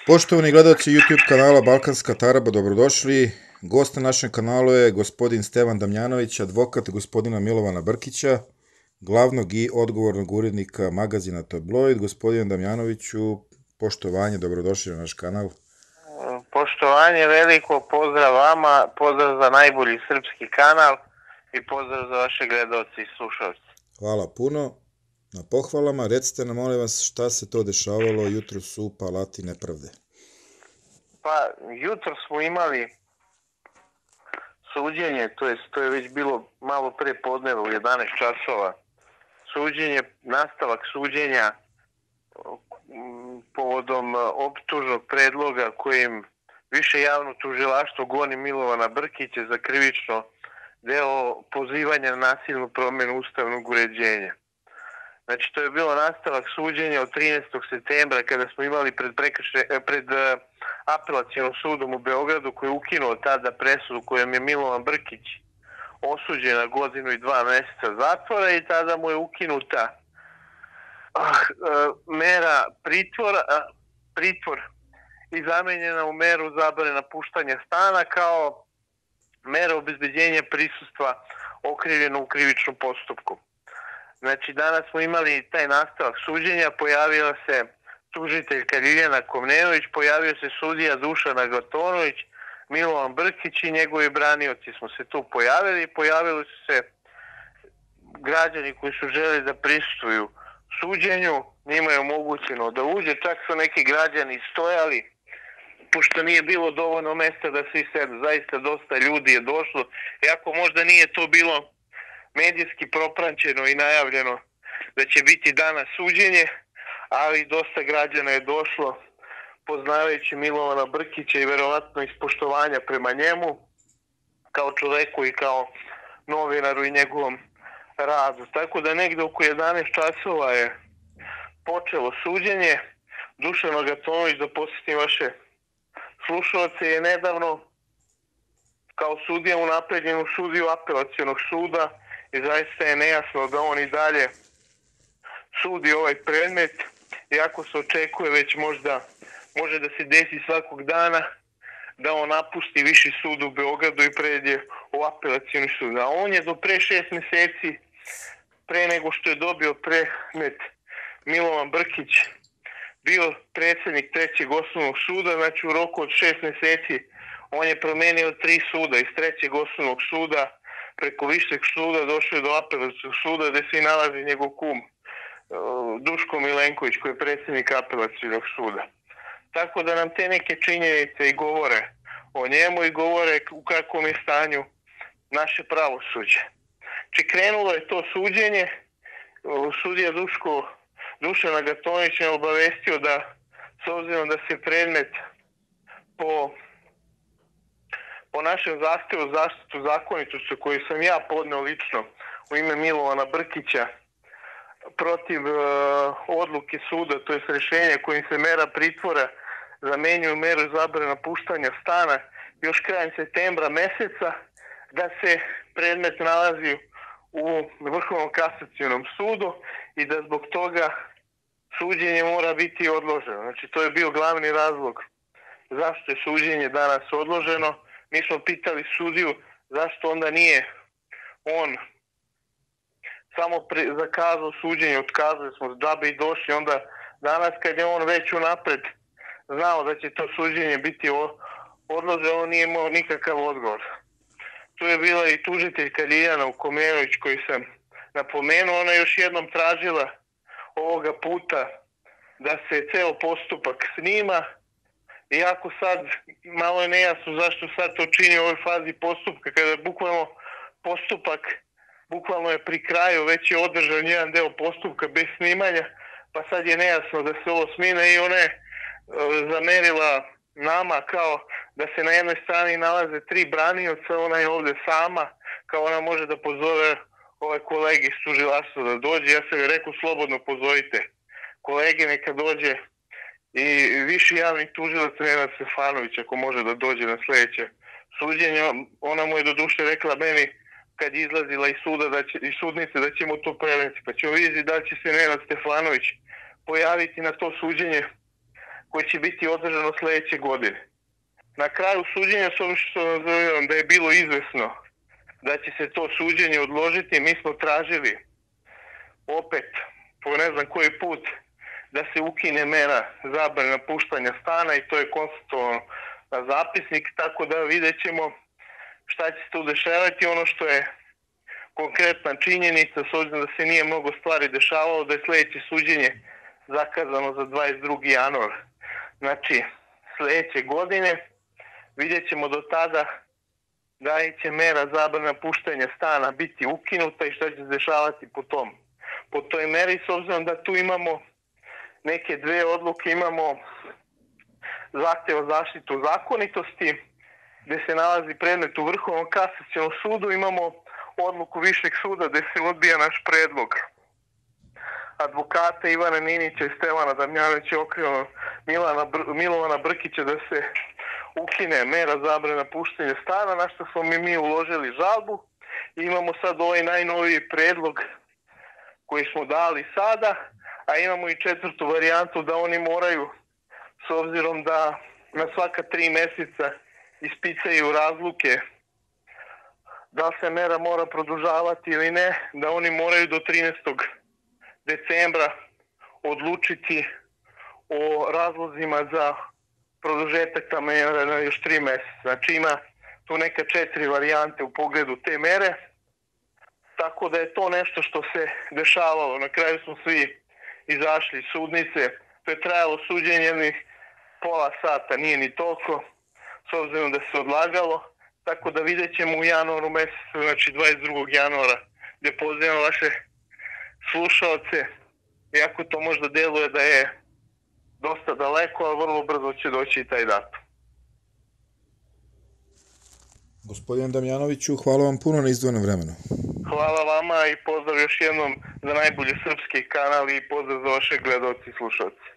Poštovani gledalci YouTube kanala Balkanska Taraba, dobrodošli. Gost na našem kanalu je gospodin Stevan Damjanović, advokat gospodina Milovana Brkića, glavnog i odgovornog urednika magazina Tabloid. Gospodin Damjanoviću, poštovanje, dobrodošli na naš kanal. Poštovanje veliko, pozdrav vama, pozdrav za najbolji srpski kanal i pozdrav za vaše gledalci i slušalci. Hvala puno na pohvalama. Recite nam, molim vas, šta se to dešavalo jutros u Palati nepravde? Pa, jutro smo imali suđenje, to je već bilo malo pre podneva u 11 časova. Suđenje, nastavak suđenja povodom optužnog predloga kojim Više javno tužilaštvo goni Milovana Brkića za krivično delo pozivanja na nasilnu promjenu ustavnog uređenja. Znači, to je bilo nastavak suđenja od 13. septembra kada smo imali pred apelacionim sudom u Beogradu koji je ukinuo tada presudu kojom je Milovan Brkić osuđen na 1 godinu i 2 meseca zatvora i tada mu je ukinuta mera pritvor i zamenjena u meru zabrane napuštanja stana kao mera obezbeđenja prisustva okrivljenog u krivičnom postupku. Znači, danas smo imali taj nastavak suđenja, pojavila se tužiteljka Ljiljana Komnenović, pojavio se sudija Dušan Agatonović, Milovan Brkić i njegovi branioci smo se tu pojavili su se građani koji su želeli da prisustvuju suđenju, njima je omogućeno da uđe, čak su neki građani stojali, pošto nije bilo dovoljno mesta da svi sedu, zaista dosta ljudi je došlo, iako možda nije to bilo medijski proprančeno i najavljeno da će biti danas suđenje, ali dosta građana je došlo poznavajući Milovana Brkića i verovatno iz poštovanja prema njemu kao čoveku i kao novinaru i njegovom radu. Tako da negde oko 11 časova je počelo suđenje. Dušan Agatonović, da posjetim vaše slušalce, je nedavno kao sudija unapređen u sudiju apelacionog suda i zaista je nejasno da on i dalje sudi ovaj predmet, iako se očekuje već možda može da se desi svakog dana da on napusti Viši sud u Beogradu i pređe u apelacioni sud. A on je do pre 6 meseci, pre nego što je dobio predmet Milovan Brkić, bio predsjednik 3. osnovnog suda, znači u roku od 6 meseci on je promenio 3 suda, iz 3. osnovnog suda preko Višeg suda došao do apelacionog suda gde se i nalazi njegov kum Duško Milenković koji je predsjednik apelacionog suda. Tako da nam te neke činjenice i govore o njemu i govore u kakvom je stanju naše pravosuđe. Či krenulo je to suđenje, sudija Dušan Agatonović je obavestio da s obzirom da se predmet po našem zahtevu zaštitu zakonitosti koju sam ja podneo lično u ime Milovana Brkića protiv odluke suda, to je rješenje kojim se mera pritvora zamenjuju meru zabrane napuštanja stana još krajem septembra meseca, da se predmet nalazi u Vrhovnom kasacionom sudu i da zbog toga suđenje mora biti odloženo. Znači, to je bio glavni razlog zašto je suđenje danas odloženo. Mi smo pitali sudiju zašto onda nije on samo zakazao suđenje, otkazali smo džabe i došli onda danas kad je on već unapred znao da će to suđenje biti odloženo, on nije imao nikakav odgovor. Tu je bila i tužiteljka Ljiljana Komnenović koju sam napomenuo, ona je još jednom tražila ovoga puta da se ceo postupak snima, iako sad malo je nejasno zašto sad to čini u ovoj fazi postupka, kada bukvalno postupak je pri kraju, već je održan jedan deo postupka bez snimanja, pa sad je nejasno da se ovo snima i ona je zamerila nama kao da se na jednoj strani nalaze 3 branioca, ona je ovde sama, kao ona može da pozove ove kolege iz tužilaštva da dođe. Ja sam joj rekao, slobodno pozovite kolege, neka dođe i viši javni tužilac Nenad Stefanović ako može da dođe na sledeće suđenje. Ona mu je do duše rekla meni kad je izlazila iz sudnice da ćemo to preneti, pa ćemo vidjeti da li će se Nenad Stefanović pojaviti na to suđenje koje će biti održano sledeće godine. Na kraju suđenja, s obzirom što nazovem da je bilo izvesno da će se to suđenje odložiti, mi smo tražili opet, po ne znam koji put, da se ukine mera zabrane napuštanja stana i to je konstatovano na zapisnik, tako da vidjet ćemo šta će se tu dešavati. Ono što je konkretna činjenica, s obzirom da se nije mnogo stvari dešavalo, da je sledeće suđenje zakazano za 22. januar. Znači, sledeće godine vidjet ćemo do tada da li će mera zabrane napuštanja stana biti ukinuta i šta će se dešavati po toj meri, s obzirom da tu imamo neke dve odluke, imamo zahtev o zaštitu zakonitosti, gde se nalazi predmet u Vrhovnom kasacionom sudu, imamo odluku Višeg suda gde se odbija naš predlog advokata Ivana Ninića i Stevana Damjanovića okrivljenog Milovana Brkića da se ukine mera zabrane napuštanja stana, na što smo mi uložili žalbu. I imamo sad ovaj najnoviji predlog koji smo dali sada, a imamo i četvrtu varijantu da oni moraju, s obzirom da na svaka 3 meseca ispicaju razluke da se mera mora produžavati ili ne, da oni moraju do 13. decembra odlučiti o razlozima za produžetak ta mera na još 3 meseca. Znači ima tu neka 4 varijante u pogledu te mere, tako da je to nešto što se dešavalo. Na kraju smo svi izašli iz sudnice, to je trajalo suđenje jednih pola sata, nije ni toliko, s obzirom da se odlagalo, tako da vidjet ćemo u januaru mesecu, znači 22. januara, gde pozivam vaše slušalce, iako to možda deluje da je dosta daleko, ali vrlo brzo će doći i taj datum. Gospodine Damjanoviću, hvala vam puno na izdvojenom vremenu. Hvala vama i pozdrav još jednom za najbolji srpski kanal i pozdrav za vaše gledalci i slušalci.